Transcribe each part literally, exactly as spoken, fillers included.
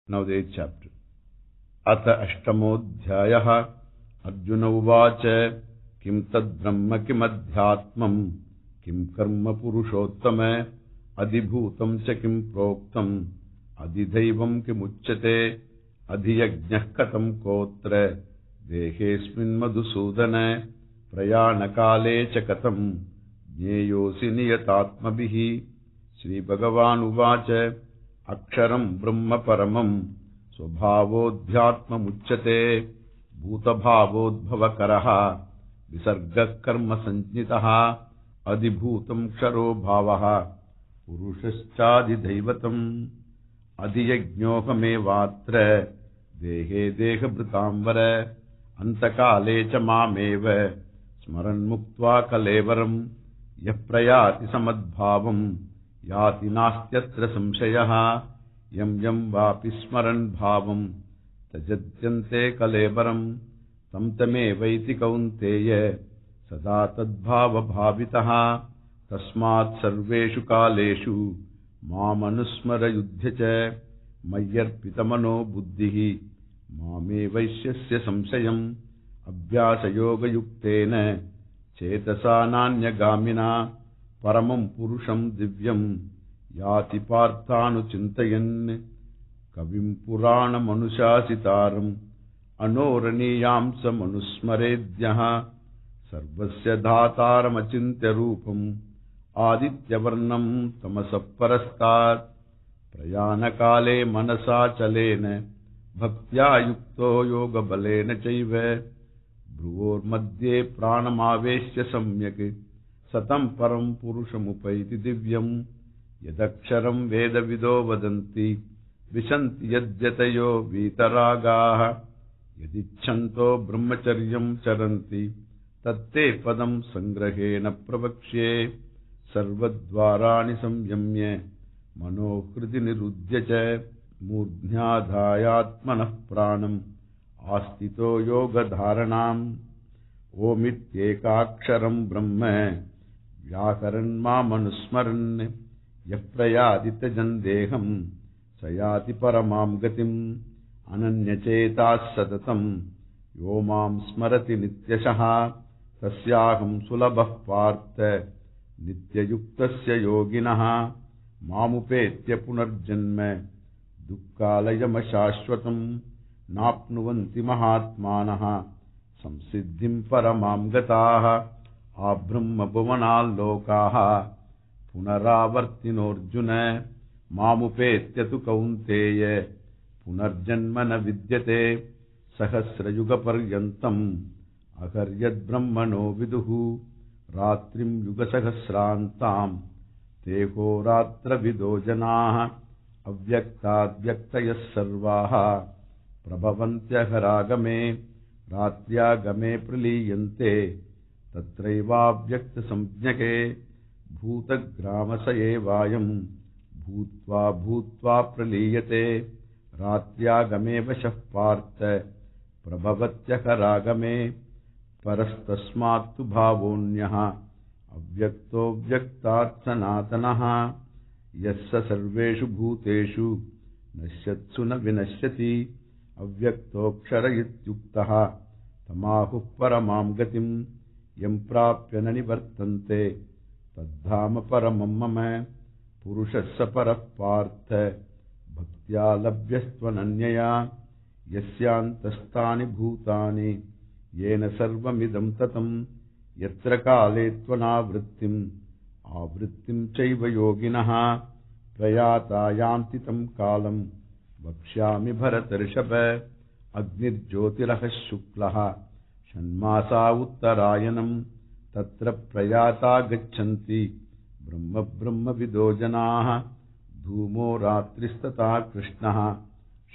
Now the eighth chapter. Ata ashtamodhyayah. Arjuna uvacha. Kim tad brahma kim adhyatmam. Kim karma purushottama. Adibhutam cha kim proktam. Adidhaivam kim uchyate. Adhiyajnah katam kotra. Dehesmin madhusudana. Prayanakale cha katam. Jneyosi niyatatmabihi. Shri Bhagavan uvacha. Aksharam Brahma Paramam Swabhavodhyatma Muchyate Bhutabhavodbhavakaraha Visarga Karma Sanjnitaha Adibhutam Ksharo Bhavaha Purushashchadi Daivatam Adhiyajnyohame Vatra Dehe Deha Bhritambara Antakale Chamameva Smaran Muktva Kalevaram Yaprayati Samadbhavam Yati nastyatra samshayaha yam yam vapi smaran bhavam tajadyante kalevaram tam tame vaiti kaunteya sada tadbhava bhavitaha tasmat sarveshu kaleshu mam anusmara yudhyacha mayyarpitamano buddhihi mame vaishyasya samsayam abhyasa yoga yuktena chetasa nanya Paramam Purusham Divyam Yati Parthanu Chintayan Kavim Purana Manushasitaram Anoraniyamsa Manusmaredhyaha Sarvasya Dhataram Achintya Rupam Aditya Varnam Tamasaparastat Prayanakale Manasa Chalena Bhaktya Yukto Yoga Balena Chaive Bhruvor Madhye Pranamaveshya Samyak Satam param purushamupaiti divyam yadaksharam veda vido vadanti vishanti yadyatayo vitaragaha yadichanto brahmacharyam charanti tatte padam sangrahena pravakshe sarvadvarani samyamye manohriti nirudhyacha murdhyadhayatmanah pranam astito yoga dharanam omityekaksharam brahma Vyakaranma manusmaran yaprayadita jandeham sayati paramam gatim ananyachetas satatam yomam smarati nityashaha tasyaham sulabah partha nityayuktasya yoginaha mamupetya punarjanma dukkalayam ashashvatam napnuvanti mahatmanaha samsiddhim paramam gataha Abrahma Bhuvanal Lokaha Punaravartinorjuna Mamupetyatu Kaunteya Punarjanmana Vidyate Sahasrayuga Paryantam Akaryad Brahmano Viduhu Ratrim Yuga Sahasrantam Teho Ratra Vidojanaha Avyakta Vyaktayas Sarvaha Prabhavantya Haragame Ratyagame Praliyante Tatraiva Vyakta Samjnake Bhuta Gramasaya Vayam Bhutva Bhutva Praliyate Ratyagame Vashahpartha Prabhavatya Karagame Parastasmatu Bhavonyaha Avyakto Vyaktat Sanatanaha Yassa Sarveshu Bhuteshu Nasyatsuna Vinashyati Avyakto Ksharayityuktaha Tamahu Paramam Gatim Yam prapya nanivartante tadhama paramam mama purushassa parah partha bhaktya labhyastvananyaya yasyantastani bhutani yena sarvamidam tatam yatra kale tvanavrittim avrittim chaiva yoginaha prayata yanti tam kalam vakshyami bharatarshava agnirjyotirah shuklaha Shanmasa Uttarayanam Tatra Prayata Gachanti Brahma Brahma Vidojanaha Dhumo Ratristata Krishnaha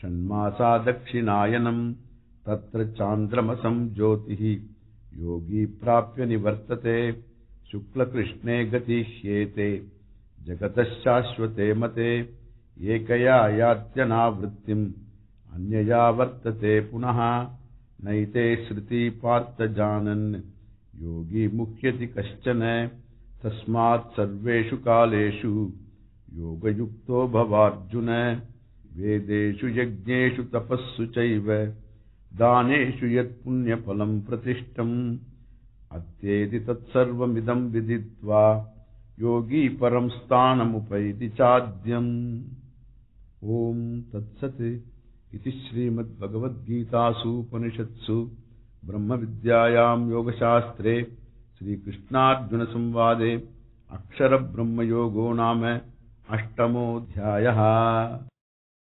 Shanmasa Dakshinayanam Tatra Chandramasam Jyotihi Yogi Prapya Nivartate Shukla Krishne Gati Hyete Jagatasshashvate Mate Ekaya Yatyana Vrittim Anyaya Vartate Punaha Naite Sriti Partha Janan Yogi Mukhyati Kaschana Tasmat Sarveshu Kaleshu Yoga Yukto Bhavarjuna वेदेषु यज्ञेषु तपस्सु चैव दानेषु यत् पुण्यफलं प्रतिष्ठम् अत्येति तत्सर्वमिदं विदित्वा योगी परं स्थानमुपैति चाद्यम्। ओम तत्सत् इति श्रीमद्भगवद्गीतासु उपनिषत्सु ब्रह्मविद्यायां योगशास्त्रे श्रीकृष्णार्जुनसंवादे अक्षरब्रह्मयोगो नाम अष्टमोऽध्यायः।